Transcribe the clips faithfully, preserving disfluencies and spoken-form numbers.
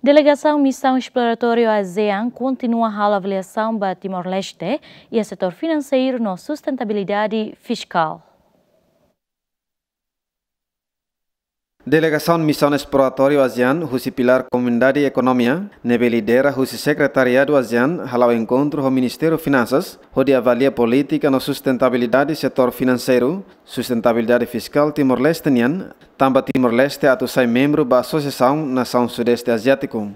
Delegasaun Misaun Esploratóriu ASEAN kontinua halo avaliasaun ba Timor-Leste iha setór finanseiru no sustentabilidade fiskál. Delegasaun Misaun Esploratóriu ASEAN husi pilár Komunidade Ekonomia, ne'ebé lidera husi Sekretariadu ASEAN, hala'o enkontru ho Ministériu Finansas, hodi avalia polítika no sustentabilidade setór finanseiru, sustentabilidade fiskál Timor-Leste nian, tanba Timor-Leste atu sai membru ba Asosiasaun Nasaun Sudeste Aziátiku.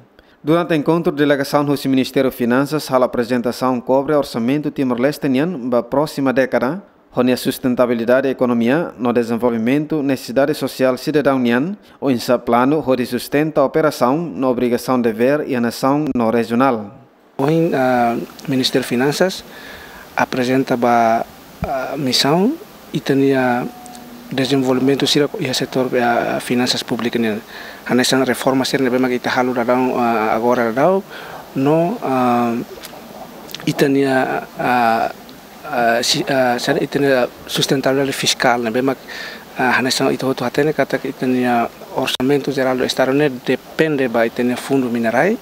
Durante enkontru, delegasaun husi Ministériu Finansas halo aprezentasaun kobre orsamentu Timor-Leste nian ba prósima dékada, ho nia sustentabilidade ekonomia no dezenvolvimentu nesesidade sosiál sidadaun nian, oinsá planu hodi sustenta operasaun no obrigasaun devér iha nasaun no rejionál. Ohin, ah, Ministériu Finansas aprezenta ba, ah, misaun ita-nia dezenvolvimentu sira iha setór, ah, finansas públikas nian. Hanesan reforma sira ne'ebé mak ita halo daudaun, ah, agora daudaun no, ah, ita-nia, ah, ah, si-, ah, sira ita-nia sustentabilidade fiskál ne'ebé mak, ah, hanesan ita hotu hatene katak ita-nia orsamentu jerál do Estadu ne'e depende ba ita-nia fundu minerai.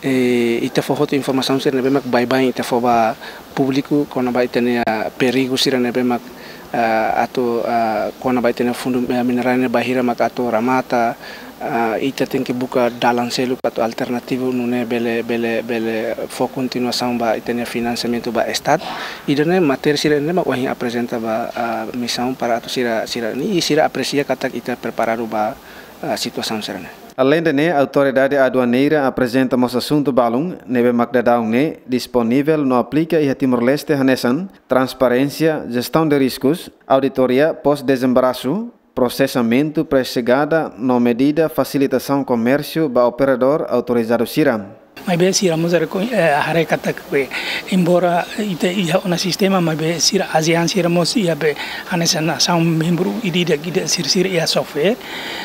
E ita fó hotu informasaun sira ne'ebé mak baibain ita fó ba públiku kona-ba ita-nia perigu sira ne'ebé mak, ah, atu, ah, kona-ba ita-nia fundu, eh, minerai ne'e bainhira mak atu remata, ah, ita tenke buka dalan seluk atu alternativu nune'e bele, bele, bele fó kontinuasaun ba ita-nia finansiamentu ba Estadu. Ida-ne'e matéria sira ne'ebé mak ohin aprezenta ba, ah, misaun para atu sira, sira-nia, sira apresia katak ita preparadu ba, ah, situasaun sira-ne'e. Aleinde ne'e, Autoridade Aduaneira aprezenta mós asuntu balun ne'ebé mak daudaun ne'e disponivel no aplika iha Timor-Leste, hanesan transparénsia, jestaun de riskus, auditoria pós-dezembarasu, prosesamentu pré-xegada no medida fasilitasaun komérsiu ba operadór autorizadu sira. Maibé sira mós haree ko-, eh, haree katak be, embora ita iha ona sistema, maibé sira ASEAN sira mós iha be hanesan nasaun membru ida-idak ida sira, sira iha software,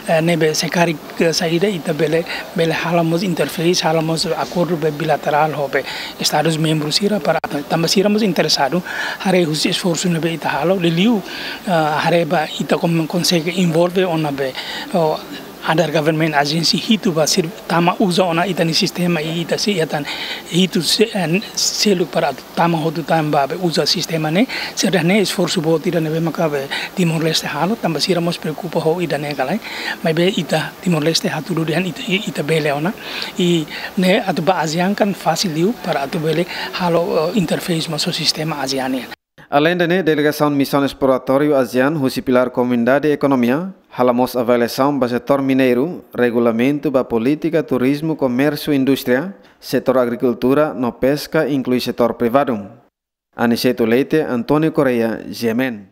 eh, ne'ebé se karik, eh, saida ita bele, bele halo mós interface, halo mós akordu be bilaterál ho be Estadus membru sira para atu, tanba sira mós interesadu haree husi esforsu ne'ebé ita halo, liuliu, eh, haree ba ita kon-, konsege envolve ona be, oh, other government agency hitu ba sira tama uza ona ita-nia sistema i ita sei atan hitu se-, eh, seluk para tama hotu tan ba be uza sistema ne'e, sira-ne'e esforsu boot ida ne'ebé maka be Timor-Leste halo, tanba sira mós preokupa ho ida-ne'e ka lae, maibé ita Timor-Leste hatudu dehan ita, ita bele ona, i ne'e atu ba ASEAN kan fasil liu para atu bele halo, eh, interface mós ho sistema ASEAN nian. Aleinde ne'e, delegasaun Misaun Esploratóriu ASEAN husi pilár Komunidade Ekonomia halo mós avaliasaun ba setór mineiru, regulamentu ba polítika, turizmu, komérsiu, indústria, setór agrikultura no peska, inklui setór privadu. Aniceto Leite, António Correia, G M N.